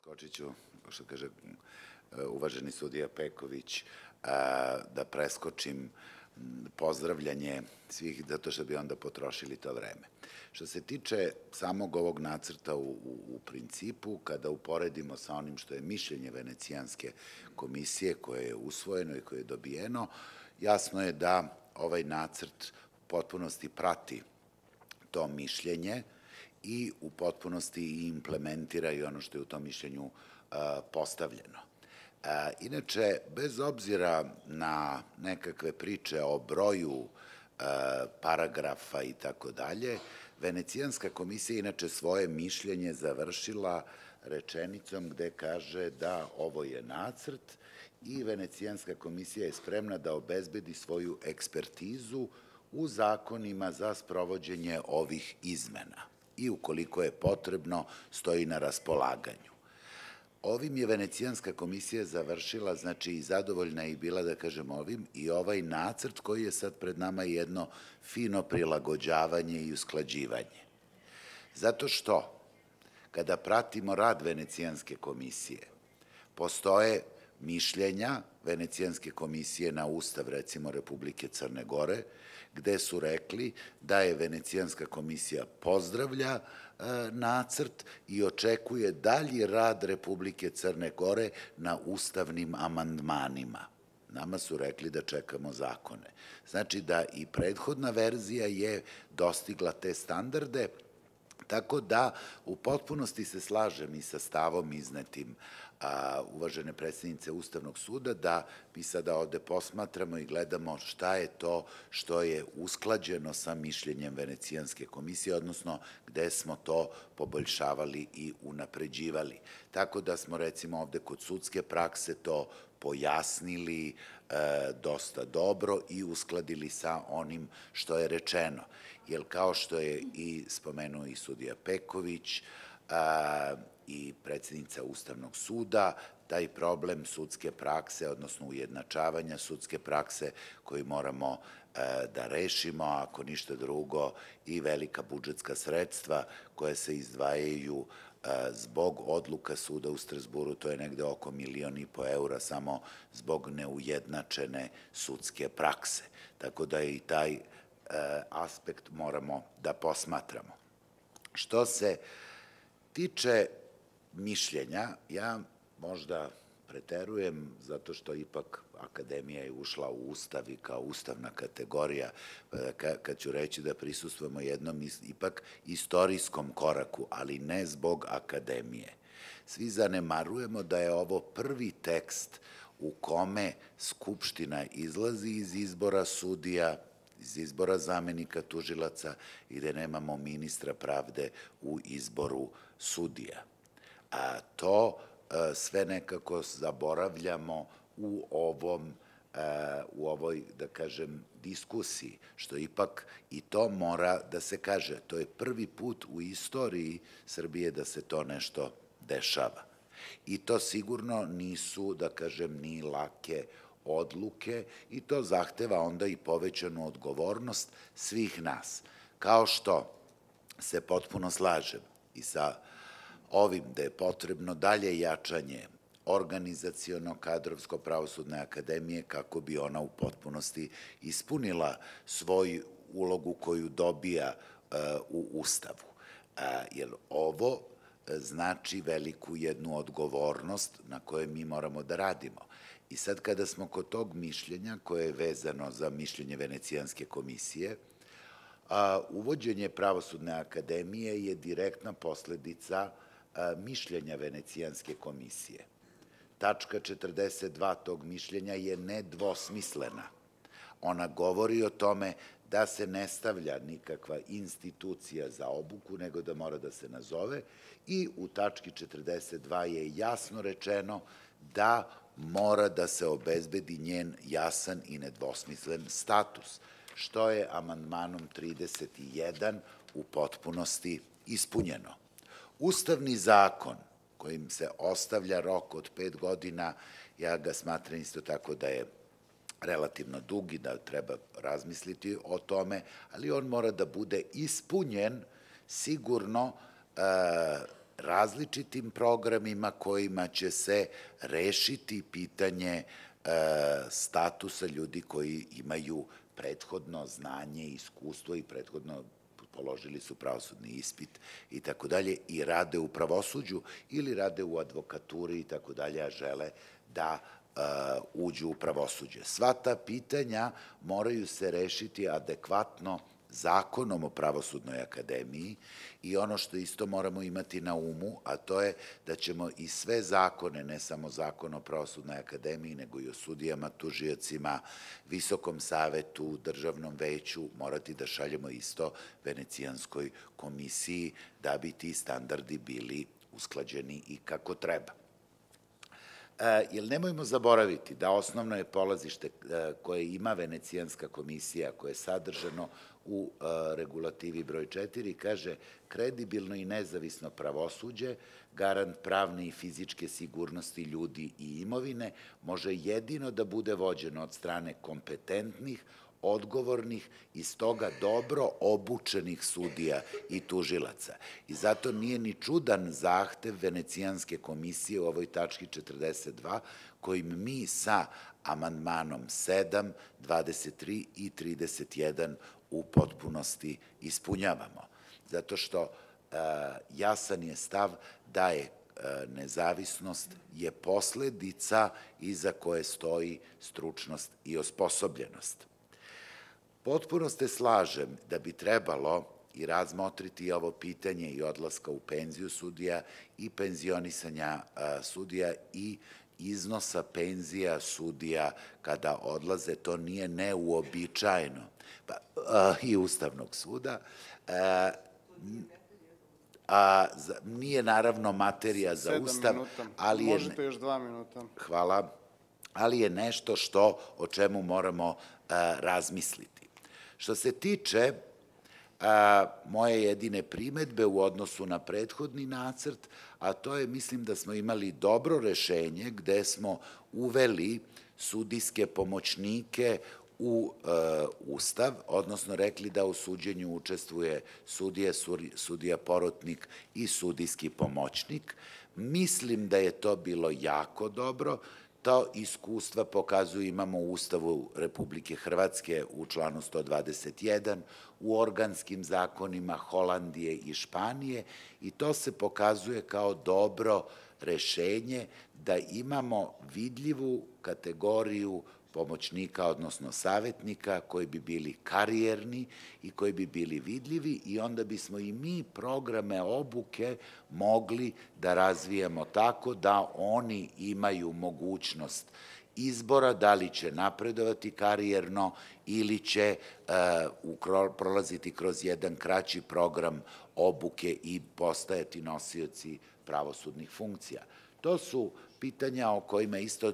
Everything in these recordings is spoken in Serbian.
Skočit ću, što kaže uvaženi sudija Peković, da preskočim pozdravljanje svih, zato što bi onda potrošili to vreme. Što se tiče samog ovog nacrta u principu, kada uporedimo sa onim što je mišljenje Venecijanske komisije koje je usvojeno i koje je dobijeno, jasno je da ovaj nacrt u potpunosti prati to mišljenje i u potpunosti implementira i ono što je u tom mišljenju postavljeno. Inače, bez obzira na nekakve priče o broju paragrafa i tako dalje, Venecijanska komisija inače svoje mišljenje završila rečenicom gde kaže da ovo je nacrt i Venecijanska komisija je spremna da obezbedi svoju ekspertizu u zakonima za sprovođenje ovih izmena i ukoliko je potrebno stoji na raspolaganju. Ovim je Venecijanska komisija završila, znači i zadovoljna je i bila, da kažem, ovim i ovaj nacrt koji je sad pred nama jedno fino prilagođavanje i usklađivanje. Zato što, kada pratimo rad Venecijanske komisije, postoje mišljenja Venecijanske komisije na Ustav, recimo, Republike Crne Gore, gde su rekli da je Venecijanska komisija pozdravlja nacrt i očekuje dalji rad Republike Crne Gore na ustavnim amandmanima. Nama su rekli da čekamo zakone. Znači da i prethodna verzija je dostigla te standarde, tako da u potpunosti se slažem i sa stavom iznetim uvažene predsednice Ustavnog suda da mi sada ovde posmatramo i gledamo šta je to što je usklađeno sa mišljenjem Venecijanske komisije, odnosno gde smo to poboljšavali i unapređivali. Tako da smo recimo ovde kod sudske prakse to pojasnili dosta dobro i uskladili sa onim što je rečeno. Jer kao što je i spomenuo i sudija Peković i predsednica Ustavnog suda, taj problem sudske prakse, odnosno ujednačavanja sudske prakse koji moramo da rešimo, ako ništa drugo, i velika budžetska sredstva koje se izdvajaju zbog odluka suda u Strazburu, to je negde oko 1,5 miliona eura samo zbog neujednačene sudske prakse. Tako da i taj aspekt moramo da posmatramo. Što se tiče mišljenja, ja možda preterujem zato što ipak akademija je ušla u Ustav i kao ustavna kategorija, kad ću reći da prisustvujemo jednom ipak istorijskom koraku, ali ne zbog akademije. Svi zanemarujemo da je ovo prvi tekst u kome Skupština izlazi iz izbora sudija, iz izbora zamenika tužilaca i da nemamo ministra pravde u izboru sudija. A to sve nekako zaboravljamo u ovoj, da kažem, diskusiji, što ipak i to mora da se kaže. To je prvi put u istoriji Srbije da se to nešto dešava. I to sigurno nisu, da kažem, ni lake odluke i to zahteva onda i povećanu odgovornost svih nas. Kao što se potpuno slažem i sa ovim da je potrebno dalje jačanje organizaciono-kadrovsko pravosudne akademije kako bi ona u potpunosti ispunila svoju ulogu koju dobija u Ustavu. Jer ovo znači veliku jednu odgovornost na kojoj mi moramo da radimo. I sad kada smo kod tog mišljenja koje je vezano za mišljenje Venecijanske komisije, uvođenje Pravosudne akademije je direktna posledica mišljenja Venecijanske komisije. Tačka 42 tog mišljenja je nedvosmislena. Ona govori o tome da se ne stavlja nikakva institucija za obuku, nego da mora da se nazove i u tački 42 je jasno rečeno da mora da se obezbedi njen jasan i nedvosmislen status, što je amandmanom 31 u potpunosti ispunjeno. Ustavni zakon kojim se ostavlja rok od 5 godina, ja ga smatram isto tako da je relativno dug i da treba razmisliti o tome, ali on mora da bude ispunjen sigurno različitim programima kojima će se rešiti pitanje statusa ljudi koji imaju prethodno znanje, iskustvo i prethodno položili su pravosudni ispit i tako dalje i rade u pravosuđu ili rade u advokaturi i tako dalje, a žele da uđu u pravosuđe. Sva ta pitanja moraju se rešiti adekvatno Zakonom o Pravosudnoj akademiji i ono što isto moramo imati na umu, a to je da ćemo i sve zakone, ne samo Zakon o Pravosudnoj akademiji, nego i o sudijama, tužiocima, Visokom savetu, Državnom veću, morati da šaljemo isto Venecijanskoj komisiji da bi ti standardi bili usklađeni i kako treba. Jer nemojmo zaboraviti da osnovno je polazište koje ima Venecijanska komisija, koje je sadržano u regulativi broj 4, kaže kredibilno i nezavisno pravosuđe, garant pravne i fizičke sigurnosti ljudi i imovine, može jedino da bude vođeno od strane kompetentnih, odgovornih i stoga dobro obučenih sudija i tužilaca. I zato nije ni čudan zahtev Venecijanske komisije u ovoj tački 42, kojim mi sa amandmanom 7, 23 i 31 u potpunosti ispunjavamo. Zato što jasan je stav da je nezavisnost je posledica iza koje stoji stručnost i osposobljenost. Potpuno se slažem da bi trebalo i razmotriti ovo pitanje i odlaska u penziju sudija i penzionisanja sudija i iznosa penzija sudija kada odlaze, to nije neuobičajeno, i Ustavnog suda. Nije naravno materija za Ustav, ali je... Možete još 2 minuta. Hvala. Ali je nešto o čemu moramo razmisliti. Što se tiče moje jedine primetbe u odnosu na prethodni nacrt, a to je, mislim da smo imali dobro rešenje gde smo uveli sudijske pomoćnike u Ustav, odnosno rekli da u suđenju učestvuje sudija porotnik i sudijski pomoćnik. Mislim da je to bilo jako dobro. To iskustva pokazuju, imamo u Ustavu Republike Hrvatske u članu 121, u organskim zakonima Holandije i Španije i to se pokazuje kao dobro rešenje da imamo vidljivu kategoriju pomoćnika, odnosno savetnika, koji bi bili karijerni i koji bi bili vidljivi i onda bismo i mi programe obuke mogli da razvijemo tako da oni imaju mogućnost izbora, da li će napredovati karijerno ili će prolaziti kroz jedan kraći program obuke i postajati nosioci pravosudnih funkcija. To su pitanja o kojima isto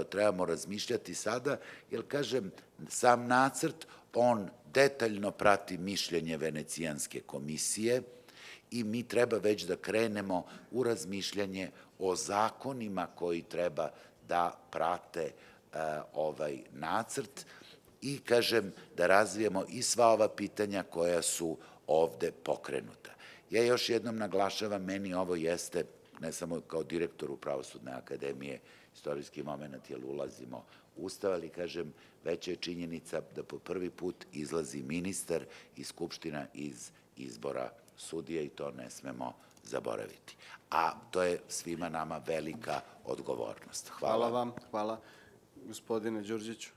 trebamo razmišljati sada, jer, kažem, sam nacrt, on detaljno prati mišljenje Venecijanske komisije i mi treba već da krenemo u razmišljanje o zakonima koji treba da prate ovaj nacrt i, kažem, da razvijemo i sva ova pitanja koja su ovde pokrenuta. Ja još jednom naglašavam, meni ovo jeste, ne samo kao direktoru Pravosudne akademije, istorijski moment, jer ulazimo u Ustav, ali, kažem, veća je činjenica da po prvi put izlazi ministar i Skupština iz izbora sudija i to ne smemo zaboraviti. A to je svima nama velika odgovornost. Hvala. Hvala vam. Hvala. Gospodine Đurđiću.